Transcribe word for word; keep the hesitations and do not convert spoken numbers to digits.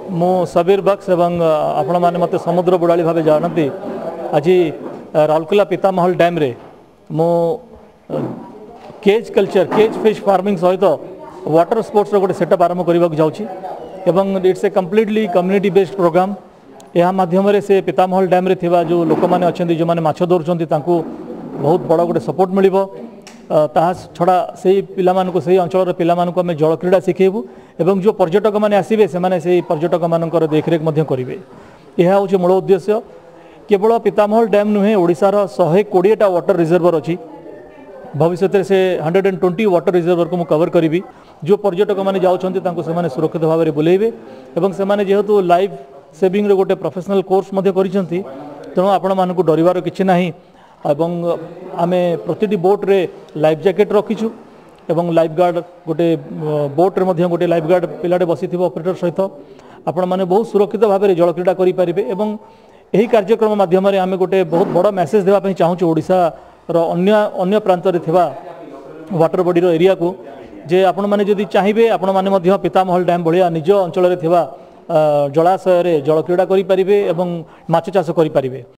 ମୁଁ ସବୀର ବକ୍ସ ଏବଂ ଆପଣମାନେ ମୋତେ ସମୁଦ୍ର ବୁଡ଼ାଳି ଭାବେ ଜାଣନ୍ତି। ଆଜି ରାଉରକେଲା ପିତାମହଲ ଡ୍ୟାମ୍ରେ ମୁଁ cage culture, cage fish farming ସହିତ ୱାଟର ସ୍ପୋର୍ଟସର ଗୋଟେ ସେଟଅପ୍ ଆରମ୍ଭ କରିବାକୁ ଯାଉଛି ଏବଂ it's a completely community based program। ଏହା ମାଧ୍ୟମରେ ସେ ପିତାମହଲ ଡ୍ୟାମ୍ରେ ଥିବା ଯେଉଁ ଲୋକମାନେ ଅଛନ୍ତି, ଯେଉଁମାନେ ମାଛ ଧରୁଛନ୍ତି, ତାଙ୍କୁ ବହୁତ ବଡ଼ ଗୋଟେ ସପୋର୍ଟ ମିଳିବ। ତାହା ଛଡ଼ା ସେଇ ପିଲାମାନଙ୍କୁ, ସେଇ ଅଞ୍ଚଳର ପିଲାମାନଙ୍କୁ ଆମେ ଜଳକ୍ରୀଡ଼ା ଶିଖେଇବୁ ଏବଂ ଯେଉଁ ପର୍ଯ୍ୟଟକମାନେ ଆସିବେ, ସେମାନେ ସେଇ ପର୍ଯ୍ୟଟକମାନଙ୍କର ଦେଖରେଖ ମଧ୍ୟ କରିବେ। ଏହା ହେଉଛି ମୂଳ ଉଦ୍ଦେଶ୍ୟ। କେବଳ ପିତାମହଲ ଡ୍ୟାମ୍ ନୁହେଁ, ଓଡ଼ିଶାର ଶହେ କୋଡ଼ିଏଟା ୱାଟର ରିଜର୍ଭର ଅଛି। ଭବିଷ୍ୟତରେ ସେ ହଣ୍ଡ୍ରେଡ଼ ଆଣ୍ଡ ଟ୍ୱେଣ୍ଟି ୱାଟର ରିଜର୍ଭରକୁ ମୁଁ କଭର କରିବି। ଯେଉଁ ପର୍ଯ୍ୟଟକମାନେ ଯାଉଛନ୍ତି, ତାଙ୍କୁ ସେମାନେ ସୁରକ୍ଷିତ ଭାବରେ ବୁଲେଇବେ ଏବଂ ସେମାନେ ଯେହେତୁ ଲାଇଫ୍ ସେଭିଂର ଗୋଟେ ପ୍ରଫେସନାଲ କୋର୍ସ ମଧ୍ୟ କରିଛନ୍ତି, ତେଣୁ ଆପଣମାନଙ୍କୁ ଡରିବାର କିଛି ନାହିଁ। ଏବଂ ଆମେ ପ୍ରତିଟି ବୋଟ୍ରେ ଲାଇଫ୍ ଜ୍ୟାକେଟ୍ ରଖିଛୁ ଏବଂ ଲାଇଫ୍ ଗାର୍ଡ଼, ଗୋଟେ ବୋଟ୍ରେ ମଧ୍ୟ ଗୋଟେ ଲାଇଫ୍ ଗାର୍ଡ଼ ପିଲାଟେ ବସିଥିବ ଅପରେଟର ସହିତ। ଆପଣମାନେ ବହୁତ ସୁରକ୍ଷିତ ଭାବରେ ଜଳକ୍ରୀଡ଼ା କରିପାରିବେ ଏବଂ ଏହି କାର୍ଯ୍ୟକ୍ରମ ମାଧ୍ୟମରେ ଆମେ ଗୋଟେ ବହୁତ ବଡ଼ ମେସେଜ ଦେବା ପାଇଁ ଚାହୁଁଛୁ ଓଡ଼ିଶାର ଅନ୍ୟ ଅନ୍ୟ ପ୍ରାନ୍ତରେ ଥିବା ୱାଟର ବଡ଼ିର ଏରିଆକୁ ଯେ ଆପଣମାନେ ଯଦି ଚାହିଁବେ, ଆପଣମାନେ ମଧ୍ୟ ପିତାମହଲ ଡ୍ୟାମ୍ ଭଳିଆ ନିଜ ଅଞ୍ଚଳରେ ଥିବା ଜଳାଶୟରେ ଜଳକ୍ରୀଡ଼ା କରିପାରିବେ ଏବଂ ମାଛ ଚାଷ କରିପାରିବେ।